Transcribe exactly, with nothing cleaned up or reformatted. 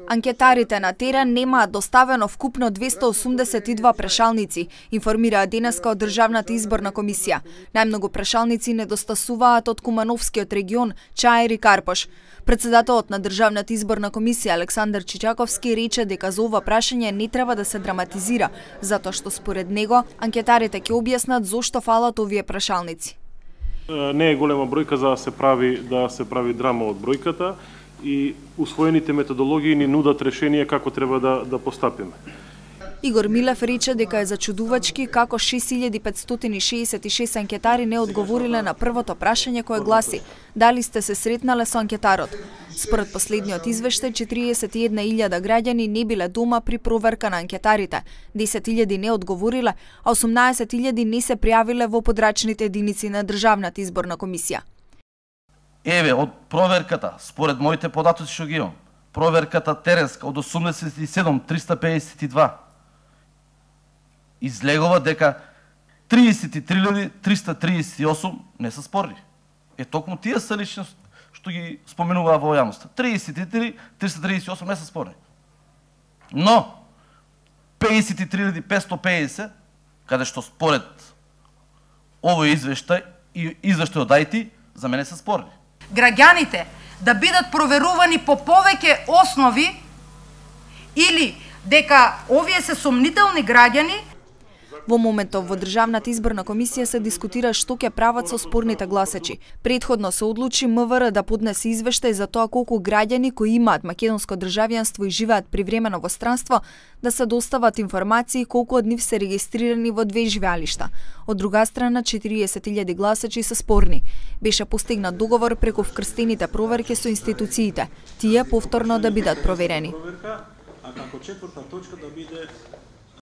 Анкетарите на терен немаат доставено вкупно двесте осумдесет и два прашалници, информираа денеска од Државната изборна комисија. Најмногу прашалници недостасуваат од Кумановскиот регион, Чаир и Карпош. Председателот на Државната изборна комисија Александар Чичаковски рече дека за ова прашање не треба да се драматизира, затоа што според него анкетарите ќе објаснат зошто фалат овие прашалници. Не е голема бројка за да се прави да се прави драма од бројката и усвоените методологии ни нудат решение како треба да да постапиме. Игор Милев рече дека е зачудувачки како шест илјади петстотини шеесет и шест анкетари не одговориле на првото прашање кое гласи: дали сте се сретнале со анкетарот? Според последниот извештај, четириесет и една илјада граѓани не биле дома при проверка на анкетарите, десет илјади не одговориле, а осумнаесет илјади не се пријавиле во подрачните единици на Државната изборна комисија. Еве, од проверката, според моите податоци што ги имам, проверката теренска од осумдесет и седум триста пеесет и два излегува дека триесет и три илјади триста триесет и осум не се спорни. Е, токму тие се лични што ги споменуваа во јавноста. триесет и три триста триесет и осум не се спорни. Но, пеесет и три илјади петстотини и пеесет, каде што според овој извештај и извештај од АјТИ, за мене се спорни. Граѓаните да бидат проверувани по повеќе основи или дека овие се сомнителни граѓани. Во моментов во Државната изборна комисија се дискутира што ќе прават со спорните гласачи. Претходно се одлучи МВР да поднесе извештај за тоа колку граѓани кои имаат македонско државјанство и живеат привремено во странство да се достават информации колку од нив се регистрирани во две живеалишта. Од друга страна, четириесет илјади гласачи се спорни. Беше постигнат договор преку вкрстените проверки со институциите, тие повторно да бидат проверени. А како четврта точка да биде